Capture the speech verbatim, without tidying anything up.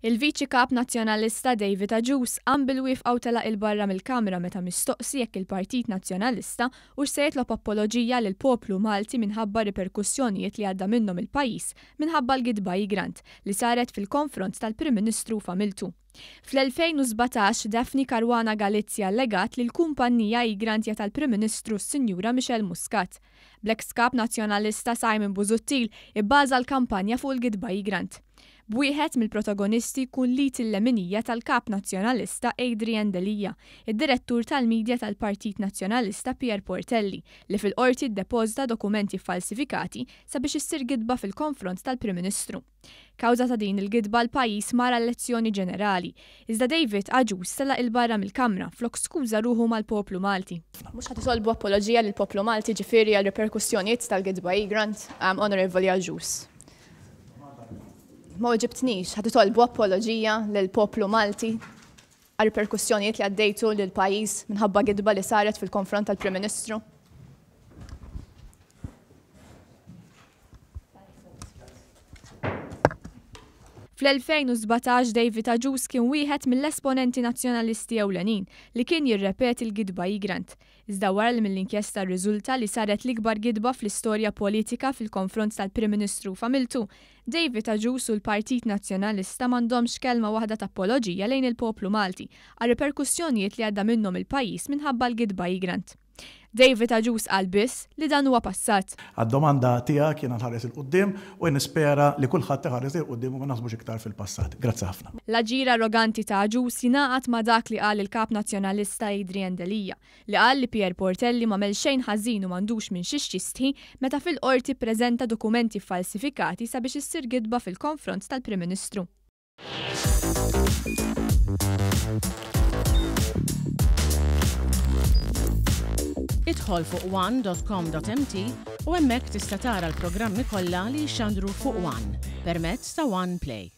Il-Viċi Kap Nazzjonalista David Agius qam bil-wieqfa u telaq 'il barra mill-Kamra meta mistoqsi jekk il-Partit Nazzjonalista hux se jitlob apoloġija lill-poplu Malti minħabba riperkussjonijiet li għadda minnhom il-pajjiż minħabba l-gidba Egrant li saret fil-konfront tal-Prim Ministru u familtu. Fl-elfejn u sbatax, Daphne Caruana Galizia allegat li l-kumpanija Egrant hija tal-Prim Ministru s-Sinjura Michelle Muscat. Bl-ex Kap Nazzjonalista Simon Busuttil ibbaża l-kampanja fuq il-gidba Egrant. B'wieħed mill-protagonisti jkun l-id il-leminija tal-Kap Nazzjonalista Adrian Delia, id-direttur tal-medja tal-Partit Nazzjonalista Pierre Portelli, li fil-qorti ddepożita dokumenti falsifikati sabiex issir gidba fil-konfront tal-Prim Ministru. Kawża ta' din il-gidba l-pajjiż mar elezzjoni ġenerali, iżda David Agius telaq 'il barra mill-Kamra flok skuża ruħu mal-poplu Malti. Mhux ħa titolbu apoloġija lill-poplu Malti ġifieri għal riperkussjonijiet tal-gidba Egrant, um, Onorevoli Agius. Ma weġibtnix, ħa titolbu apoloġija lill-poplu Malti għal riperkussjonijiet li għaddejtu lill-pajjiż minħabba gidba li saret fil-konfront tal-Prim Ministru? Fl-elfejn u sbatax David Agius kien wieħed mill-esponenti nazzjonalisti ewlenin li kien jirrepeti l-gidba Egrant. Iżda wara li mill-inkjesta rriżulta li saret l-ikbar gidba fl-istorja politika fil-konfront tal-Prim Ministru u familtu, David Agius u l-Partit Nazzjonalista m'għandhomx kelma waħda ta' apoloġija lejn il-poplu Malti għal riperkussjonijiet li għadda minnhom il-pajjiż minħabba l-gidba Egrant. David Agius qal biss li dan huwa passat. Għad-domanda tiegħek jiena nħares il quddiem u nispera li kulħadd iħares il quddiem u ma naħsbux iktar fil-passat. Grazzi ħafna. L-aġir arroganti ta' Agius jingħaqad ma' dak li qal il-Kap Nazzjonalista Adrian Delia, li qal li Pierre Portelli m'għamel xejn ħażin u m'għandux minn xiex jistħi meta fil-qorti ppreżenta dokumenti falsifikati sabiex issir gidba fil-konfront tal-Prim Ministru. Idħol fuq one dot com dot m t u hemmhekk tista' tara l-programmi kollha li jixxandru fuq One permezz ta' One Play.